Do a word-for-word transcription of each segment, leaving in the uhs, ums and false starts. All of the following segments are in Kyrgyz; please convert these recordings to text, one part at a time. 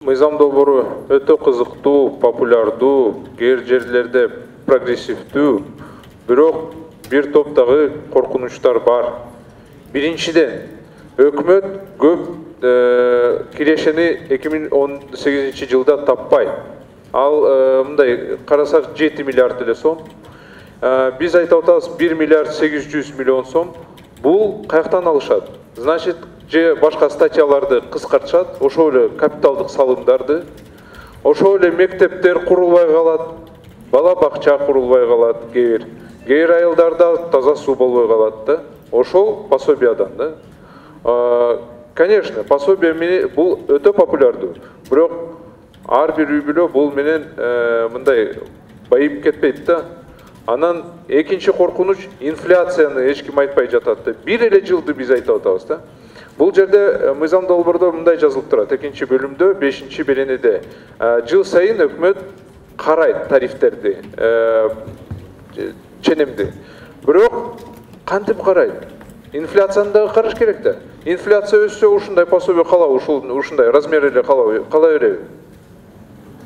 мыйзам долбоору өтө кызыктуу, популярдуу, кээ жерлерде прогрессивдүү, бирок бир топтогу коркунучтар бар. Биринчиден, өкмөт көп кирешени эки миң он сегизинчи жылда таппай. Ал мындай карасак жети миллиард эле сом. Биз айтып атабыз бир миллиард сегиз жүз миллион сом. Бул каяктан алышат? Значит, же башка статьяларды кыскартышат, ошол эле капиталдык салымдарды, ошол эле мектептер курулбай калат, бала бакча курулбай калат, кээ кээ айылдарда таза суу болбой калат да. Ошол пособиядан да. Конечно, пособие бул өтө популярдуу. Бирок ар бир үй бүлө бул менен мындай байып кетпейт да. Анан экинчи коркунуч инфляцияны эч ким айтпай жатат да. Бир эле жылды биз айтып атабыз да. Бул жерде мыйзам долбоордо мындай жазылып турат, экинчи бөлүмдө, бешинчи беренеде. Жыл сайын өкмөт карайт тарифтерди, ченемди. Бирок кантип карайт? Инфляцияны да караш керек да. Инфляция өссө ушундай пособие кала, ушундай размер эле кала кала береби?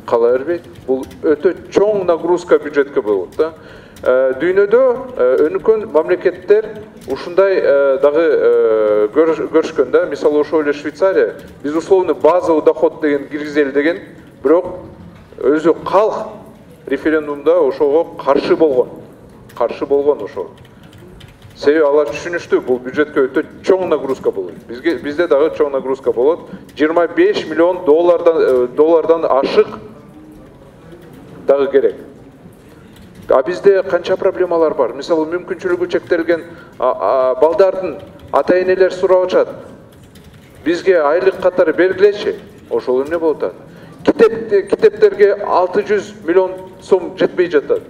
Кала бербейт. Бул өтө чоң нагрузка бюджетке болот да. Дүйнөдө өнүккөн мамлекеттер ушундай дагы көрүшкөн да. Мисалы ошол эле Швейцария, безусловно базовый доход деген киргизели деген, бирок өзү калк референдумда ошого каршы болгон. Каршы болгон ошол. Себеби алар түшүнүштү, бул бюджетке өтө чоң нагрузка болот. Бизге бизде дагы чоң нагрузка болот. жыйырма беш миллион доллардан доллардан ашык дагы керек. А бизде канча проблемалар бар. Мисалы мүмкүнчүлүгү чектелген балдардын ата-энелер сурап атышат. Бизге айлык катары бергилечи. Ошол эмне болуп атат? Китеп китептерге алты жүз миллион сом жетпей жатат.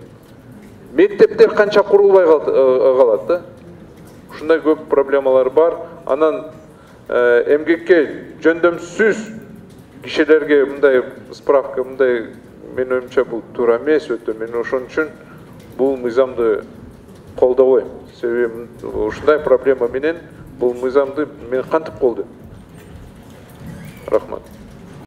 Мектептер канча курулбай калат да. Ушундай көп проблемалар бар. Анан эмгекке жөндөмсүз кишилерге мындай справка, мындай мен оюмча бул туура эмес өтө. Мен ошон үчүн бул мыйзамды колдобойм. Себеби ушундай проблема менен бул мыйзамды мен кантип колдойм? Рахмат.